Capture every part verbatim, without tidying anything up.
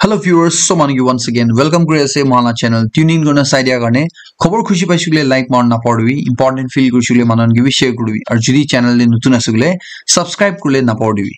Hello viewers, so manu ki once again welcome kuri ase mohan la channel. Tune in kurna sai dia karne khobor khushi paishe koile like marna napahoribi, important feel kurishe koile manu khan ke bi share kuribi, aru jodi channel te notun ase koile subscribe kurle napahoribi.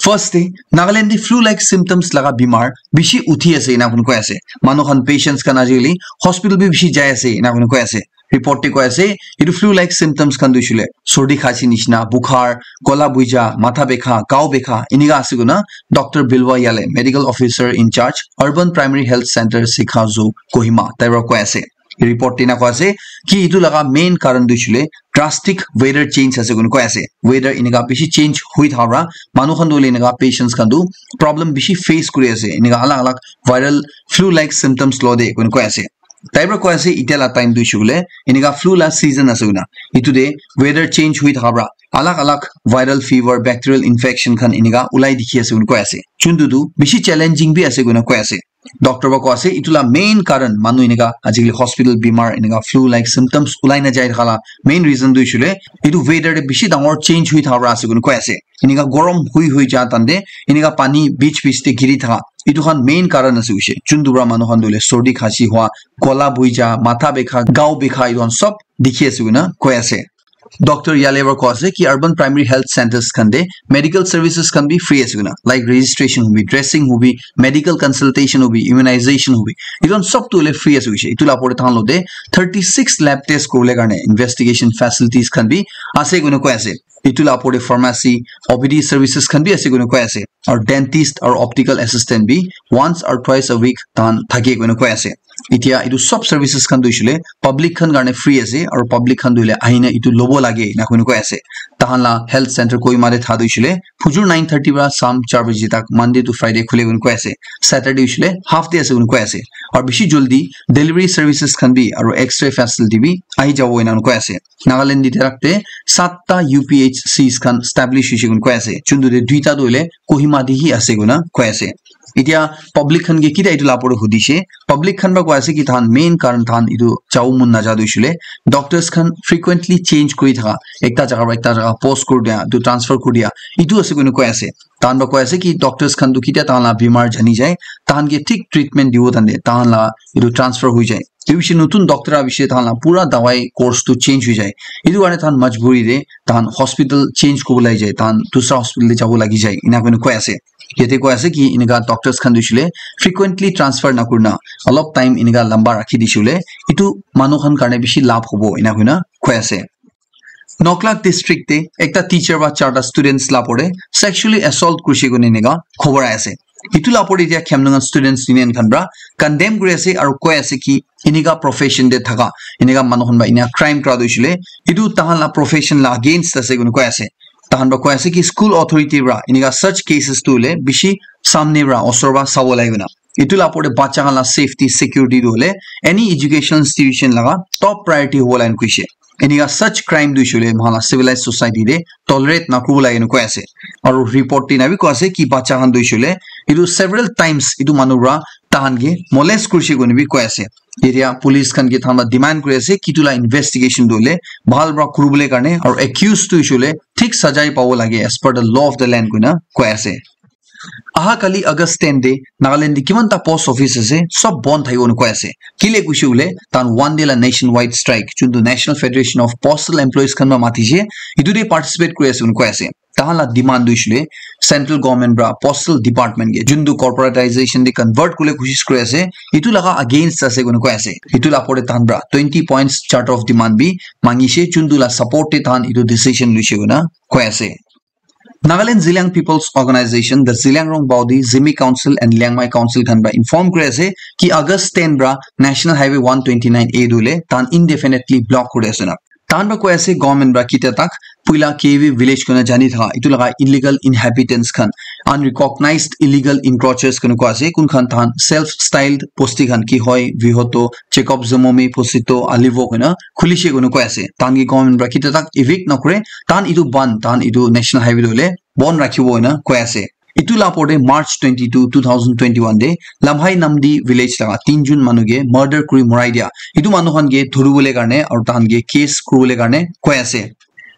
First te Nagaland te flu like symptoms laga bimar bishi uthi ase ena koi ase. Manu khan patients khan ajikali hospital bi bishi jai ase ena koi ase. Report te koi ase etu flu like symptoms khan tu hoishe koile sordi khasi nishina, bukhar, gola buija, matha bekha, gao bekha enika ase koina Doctor Bilwa Yale, medical officer in charge, Urban Primary Health Center, Sikhazu, Kohima, tai para koi ase. Report te ena koi ase ki etu laga main karan tu hoishe koile drastic weather change ase koina koi ase. Weather enika bishi change hui thaka para manu khan tu hoile enika patients khan tu problem bishi face kuri ase, enika alag alag viral flu like symptoms lo de koina koi ase. Tai para koi ase etia la time tu hoishe koile enika flu la season ase koina, etu te weather change hui thaka para alag alag viral fever, bacterial infection khan enika ulai dikhi ase koina koi ase. Chuntu tu bishi challenging bi ase koina koi ase. Doctor para koi ase etu la main karan manu enika ajikali hospital bimar enika flu like symptoms ulai na jai thaka la main reason tu hoishe koile etu weather te bishi dangor change hui thaka para ase koina koi ase. Enika gorom hui hui ja tante enika pani beach beach te giri thaka, etu khan main karan ase hoishe. Chuntu para manu khan tu hoile sordi khasi hua, gola buija, matha bekha, gao bekha, etu khan sob dikhi ase koina koi ase. Doctor Yale para koi ase ki urban primary health centers khan te medical services khan bi free ase koina, like registration hobi, dressing hobi, medical consultation hobi, immunization hobi, etu khan sob tu hoile free ase hoishe. Etu la opor te tahan lo te thirty six lab test kuribole karne investigation facilities khan bi ase koina koi ase. Etu la opor te pharmacy, O P D services khan bi ase koina koi ase, aru dentist aru optical assistant bi once or twice a week tahan thake koina koi ase. Etia etu sob services khan tu hoishe koile public khan karne free ase, aru public khan tu hoile ahina etu lobo lage ena koina koi ase. Tahan la health center Kohima te tha tu hoishe koile phujur nine thirty para sham char baje tak, Monday to Friday khule koina koi ase. Saturday hoishe koile half day ase koina koi ase. Aru bishi jaldi delivery services khan bi aru X-ray facility bi ahi jabo ena koina koi ase. Nagaland te rakte satta U P H Cs khan establish hoishe koina koi ase. Chuntu te duita tu hoile Kohima te hi ase koina koi ase. Etia public khan ke kita etu la opor te hudishe, public khan para koi ase ki tahan main karan tahan etu jabo mon naja tu hoishe koile doctors khan frequently change kuri thaka, ekta jaga para ekta jaga post kuri dia, tu transfer kuri dia, etu ase koina koi ase. Tahan para koi ase ki doctors khan tu ketia tahan la bimar jani jai, tahan ke thik treatment dibo tante tahan la etu transfer hui jai. Etu bishi notun doctor aha bishi tahan la pura dawai course tu change hui jai. Etu karne tahan majburi te tahan hospital change kuribo lagi jai, tahan dusra hospital te jabo lagi jai, ena koina koi ase. Yate koi ase ki enika doctors khan tu hoishe koile frequently transfer nakurina olop time enika lamba rakhi dishe koile etu manu khan karne bishi labh hobo ena koina koi ase. Noklak district te ekta teacher para charta students la opor te sexually assault kurishe koina enika khobor ahi ase. Etu la opor te etia Khemlungan Students Union khan para condemn kuri ase aru koi ase ki enika profession te thaka enika manu khan para enika crime kura tu hoishe koile etu tahan la profession la against ase koina koi ase. Tahan para koi ase ki school authority para enika such cases tu hoile bishi samne para osor para sabo lage koina. Etu la opor te bacha khan la safety security tu hoile any educational institution laga top priority hobo lage koishe. Enika such crime tu hoishe koile moikhan la civilized society te tolerate nakuribo lage ena koi ase. Aru report te ena bi koi ase ki bacha khan tu hoishe koile etu several times etu manu para tahan ke molest kurishe koina bi koi ase. Etia police khan ke tahan para demand kuri ase ki etu la investigation tu hoile bhal para kuribole karne aru accused tu hoishe koile thik sajai pabo lage as per the law of the land koina koi ase. Aha kali August ten te Nagaland te kiman ta post office ase, sob bon thakibo ena koi ase. Kile koishe koile tahan one day la nationwide strike chuntu National Federation of Postal Employees khan para matishe, etu te participate kuri ase ena koi ase. Tahan la demand tu hoishe koile central government para postal department ke chuntu corporatization te convert kuribole koshish kuri ase, etu laga against ase koina koi ase. Etu la opor te tahan para twenty points charter of demand bi mangishe, chuntu la support te tahan etu decision loishe koina koi ase. Nagaland Zeliang People's Organization, the Zeliangrong Baudi, Zimi Council and Liangmai Council khan para inform kuri ase ki August ten para National Highway one twenty nine A tu hoile tahan indefinitely block kuri ase na. Tahan para koi ase government para ketia tak puila K V village koina jani thaka etu laga illegal inhabitants khan, unrecognized illegal encroachers koina koi ase, kun khan tahan self styled bosti khan ki hoi, Vihoto, Jacob Zomomi, Posito, Alivo koina khulishe koina koi ase. Tahan ke government para ketia tak evict nakure, tahan etu ban, tahan etu national highway tu hoile bon rakhibo ena koi ase. Etu la opor te March twenty two, two thousand twenty one te Lamhai Namdi village laga tinjun manu ke murder kuri morai dia, etu manu khan ke dhuribole karne aru tahan ke case kuribole karne koi ase.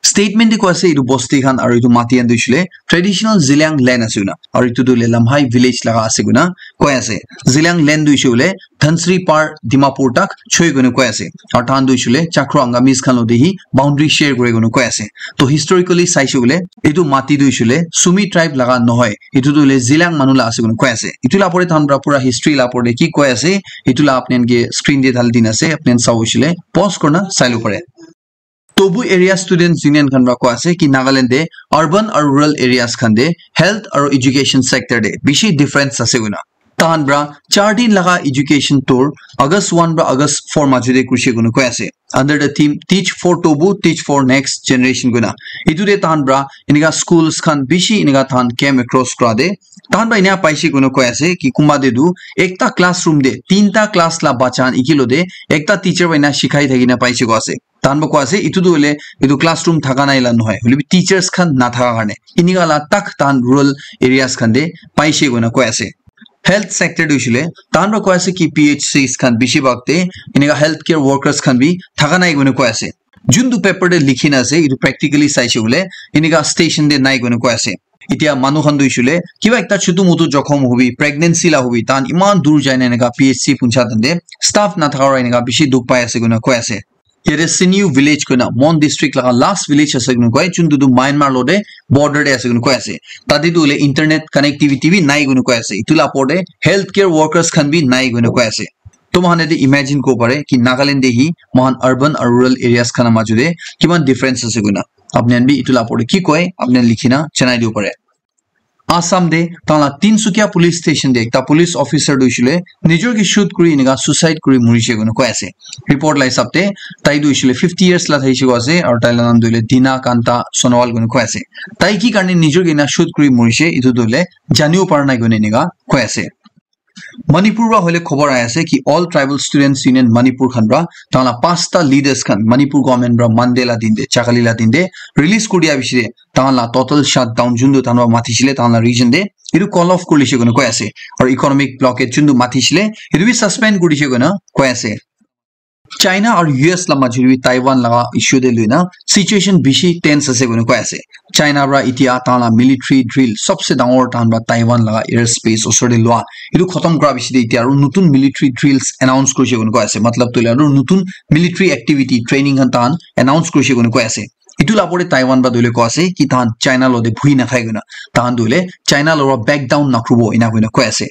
Statement te koi ase etu bosti khan aru etu mati khan tu hoishe le traditional Zeliang land ase koina, aru etu tu hoile Lamhai village laga ase koina koi ase. Zeliang land tu hoishe le Dhansiri par Dimapur tak choi koina koi ase. Aru tahan tu hoishe le Chakro Angamis khan lo de hi boundary share kore koina koi ase. To historically saishe koile etu mati tu hoishe le Sumi tribe laga nohoi, etu tu hoile Zeliang manu la ase koina koi ase. Etu la pore tahan pra pura history la pore ki koi ase, etu la apni khan ke screen te dhali dina ase, apni khan sabo hoishe le pause kurna sai lo pare. Tobu Area Students Union khan pra koi ase ki Nagaland te urban aru rural areas khan te health aru education sector te bishi difference ase koina. Tahan pra char din laga education tour August one pra August four majo te kurishe koina koi ase. Under the theme Teach for Tobu, Teach for Next Generation koina. Etu te tahan pra enika schools khan bishi enika tahan came across kura te. Tahan pra ena paishe koina koi ase ki kunba te tu ekta classroom te tinta class la bacha khan ekilo te ekta teacher pra ena shikhai thakina paishe koi ase. Tahan pra koi ase etu tu hoile etu classroom thaka nai la nohoi, hoile bi teachers khan nathaka karne enika la tak tahan rural areas khan te paishe koina koi ase. Health sector tu hoishe le tahan pra koi ase ki P H Cs khan bishi bhag te enika healthcare workers khan bi thaka nai koina koi ase. Juntu paper te likhi na ase etu practically saishe koile enika station te nai koina koi ase. Etia manu khan tu hoishe le kiba ekta chutu mutu jokhom hobi, pregnancy la hobi, tahan iman dur jai na enika P H C puncha tante staff nathaka pra enika bishi dukh pai ase koina koi ase. Yate Siniu village koina Mon district laga last village ase koina koi, juntu tu Myanmar lo te border te ase koina koi ase. Tate tu hoile internet connectivity bi nai koina koi ase. Etu la pore healthcare workers khan bi nai koina koi ase. To moikhan yate imagine kuri bo pare ki Nagaland te hi moikhan urban aru rural areas khan la majo te kiman difference ase koina. Apni khan bi etu la pore ki koi, apni khan likhi na janai dibo pare. Assam te tahan la Tinsukia police station te ekta police officer tu hoishe le nijor ke shoot kuri enika suicide kuri murishe koina koi ase. Report la hisab te tai tu hoishe le fifty years la thaishe koi ase aru tai la naam tu hoile Dina Kanta Sonowal koina koi ase. Tai ki karne nijor ke ena shoot kuri murishe etu tu hoile janibo para nai koina enika koi ase. Manipur pra hoile khobor ahi ase ki All Tribal Students Union Manipur khan pra tahan la pasta leaders khan Manipur government pra Monday la din te, chakali la din te release kuri dia bishi te tahan la total shutdown juntu tahan pra mathi shile tahan la region te etu call off kuri lishe koina koi ase. Aru economic blockade juntu mathi shile etu bi suspend kuri dishe koina koi ase. China aru U S la majo te bi Taiwan laga issue te lui na situation bishi tense ase koina koi ase. China pra etia tahan la military drill sobse dangor tahan pra Taiwan laga airspace osor te lua etu khotom kura bishi te etia aru notun military drills announce kurishe koina koi ase. Matlab tu hoile aru notun military activity training khan tahan announce kurishe koina koi ase. Etu la pore Taiwan pra tu hoile koi ase ki tahan China lo te bhui nakhai koina tahan tu hoile China lo pra back down nakuribo ena koina koi ase.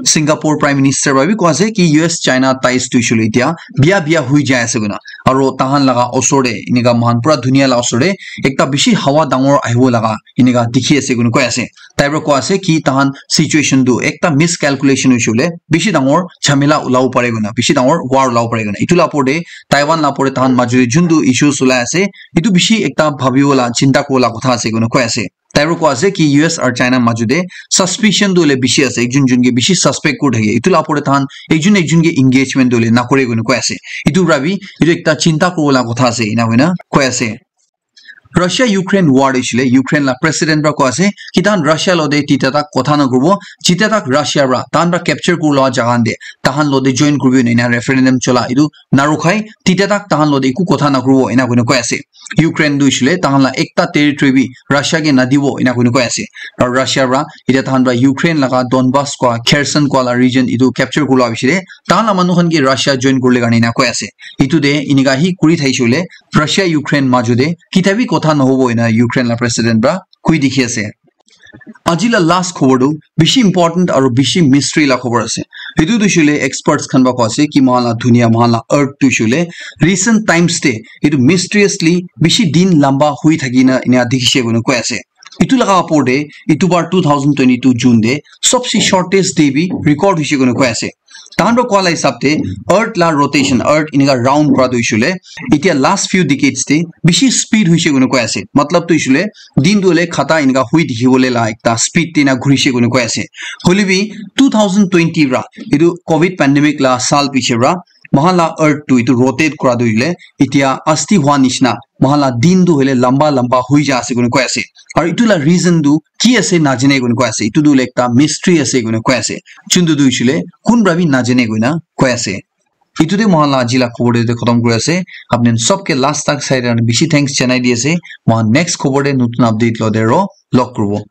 Singapore Prime Minister pra bi koi ase ki U S China ties tu hoishe le etia biya biya hui jai ase koina. Aru tahan laga osor te enika moikhan pura dunia la osor te ekta bishi hawa dangor ahibo laga enika dikhi ase koina koi ase. Tai pra koi ase ki tahan situation tu ekta miscalculation hoishe le bishi dangor jhamela ulabo pare koina, bishi dangor war ulabo pare koina. Etu la pore Taiwan la pore tahan majo te juntu issues ulai ase etu bishi ekta bhabibo la chinta kuribo la kotha ase koina koi ase. Tai pra koi ase ki U S aru China majo te suspicion tu hoile bishi ase, ekjun jun ke bishi suspect kuri thake. Etu la pore tahan ekjun ekjun ke engagement tu hoile nakore koina koi ase. Etu pra bi etu ekta chinta kuribo la kotha ase ena koina koi ase. Russia Ukraine war hoishe le Ukraine la president pra koi ase ki tahan Russia lo te tita tak kotha nakuribo, jita tak Russia pra tahan pra capture kuri loa jaga khan te tahan lo te join kuribo ena referendum chola etu narukhai tita tak tahan lo te eku kotha nakuribo ena koina koi ase. Ukraine tu hoishe le tahan la ekta territory bi Russia ke nadibo ena koina koi ase. Aru Russia pra etia tahan pra Ukraine laga Donbas koa Kherson koa la region etu capture kuri loa bishi te tahan la manu khan ke Russia join kurile karne ena koi ase. Etu te enika hi kuri thaishe hoile Russia Ukraine majo te kitia bi kotha nahobo ena Ukraine la president pra koi dikhi ase. Aji la last khobor tu bishi important aru bishi mystery la khobor ase. Etu tu hoishe le experts khan pra koi ase ki moikhan la dunia, moikhan la earth tu hoishe le recent times te etu mysteriously bishi din lamba hui thaki na ena dikhishe koina koi ase. Etu laga opor te etu bar two thousand twenty-two June te sobse shortest day bi record hoishe koina koi ase. Tahan pra koa la hisab te earth la rotation, earth enika round kura tu hoishe le etia last few decades te bishi speed hoishe koina koi ase. Matlab tu hoishe le din tu hoile khata enika hui dikhi bole la ekta speed te na ghurishe koina koi ase. Hoile bi two thousand twenty pra etu covid pandemic la saal piche pra moikhan la earth tu etu rotate kura tu hoile etia asti hua nishina moikhan la din tu hoile lamba lamba hui ja ase koina koi ase. Aru etu la reason tu ki ase najane koina koi ase. Etu tu hoile ekta mystery ase koina koi ase. Juntu tu hoishe le kun pra bi najane koina koi ase. Itu te mohan la aji la khobor te khotom kuri ase. Apni sob ke last tak sai rana bishi thanks janai di ase. Mohan next khobor te notun update lo te ro log kuribo.